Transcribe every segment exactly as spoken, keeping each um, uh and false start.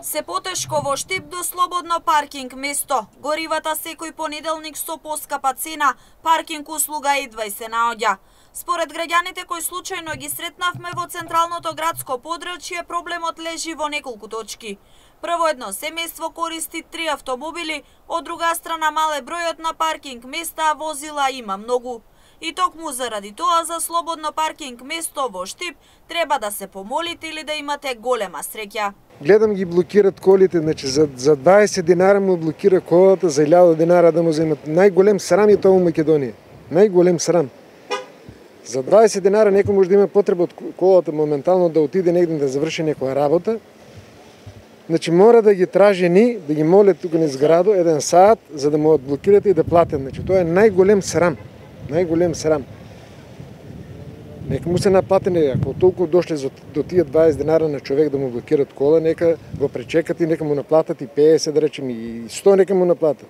Се потешко во Штип до слободно паркинг место. Горивата секој понеделник со поскапа цена, паркинг услуга едва и се наоѓа. Според граѓаните кои случајно ги сретнавме во централното градско подрачје, проблемот лежи во неколку точки. Прво, едно семејство користи три автомобили, од друга страна мале бројот на паркинг места, а возила има многу. И токму заради тоа за слободно паркинг место во Штип треба да се помолите или да имате голема среќа. Гледам ги блокират колите, значи за, за дваесет динара му блокира колата, за илјада динара да му земат. Најголем срам е тоа во Македонија. Најголем срам. За дваесет динара некој може да има потреба од колата моментално да отиде негде да заврши некоја работа. Значи мора да ги тражи ни, да ги моле тука низ градо еден саат за да му одблокират и да платат. Значи тоа е најголем срам. Најголем срам. Нека му се наплатени, ако толку дошле до тие дваесет динара на човек да му блокират кола, нека го пречекат и нека му наплатат и петдесет, да речем, и сто нека му наплатат.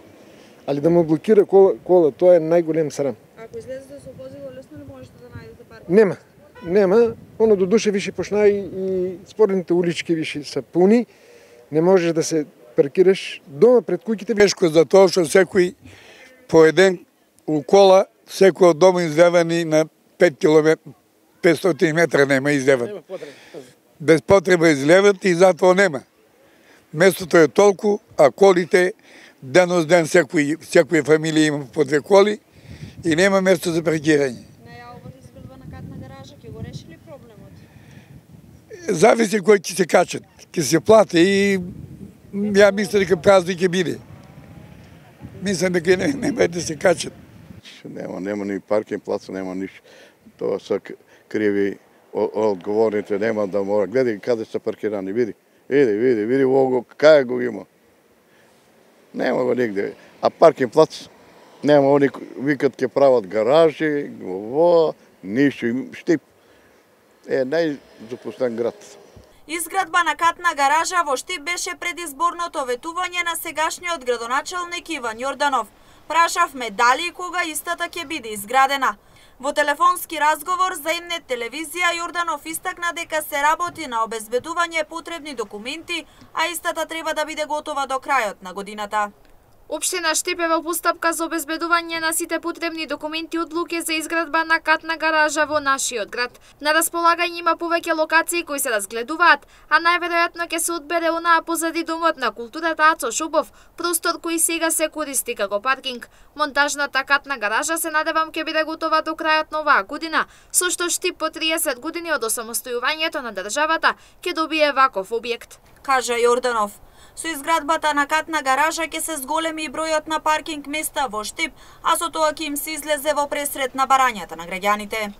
Али да му блокира кола, кола тоа е најголем срам. Ако излезете со возило, лесно ли можете да најдете паркинг? Нема, нема. Оно до душе више почна и, и спорните улички више се пуни. Не можеш да се паркираш дома пред куќите. Тешко за тоа што секој по еден у кола, секој од дома излевани на пет километри, петстотини метра нема излеват. Без потреба излеват и затоа нема. Местото е толку, а колите денос ден секој, секој фамилија има по две коли и нема место за паркирање. Најавата изградба на катна гаража, ќе го реши ли проблемот? Зависи кој ќе се качат. Ќе се плати и ја мислам дека празник ќе биде. Мислам дека не, нема да се качат. Нема, нема ни паркинг плаца, нема ништо. Тоа се криви одговорните, нема да мора. Гледај каде се паркирани, види. Види, види, види во кај го има. Нема го нигде. А паркинг плац нема, они викат ќе прават гаражи, во, ништо. Штип е најзапустен град. Изградба на катна гаража во Штип беше предизборното ветување на сегашниот градоначелник Иван Јорданов. Прашавме дали и кога истата ќе биде изградена. Во телефонски разговор за М-нет телевизија Јорданов истакна дека се работи на обезбедување потребни документи, а истата треба да биде готова до крајот на годината. Општина Штип е во постапка за обезбедување на сите потребни документи од одлуки за изградба на катна гаража во нашиот град. На располагање има повеќе локации кои се разгледуваат, а најверојатно ќе се одбере онаа позади Домот на културата Ацо Шубов, простор кој сега се користи како паркинг. Монтажната катна гаража се надевам ќе биде готова до крајот на оваа година, со што Штип по триесет години од осамостојувањето на државата ќе добие ваков објект, кажа Јорданов. Со изградбата на катна гаража ќе се зголеми и бројот на паркинг места во Штип, а со тоа ќе им се излезе во пресрет на барањата на граѓаните.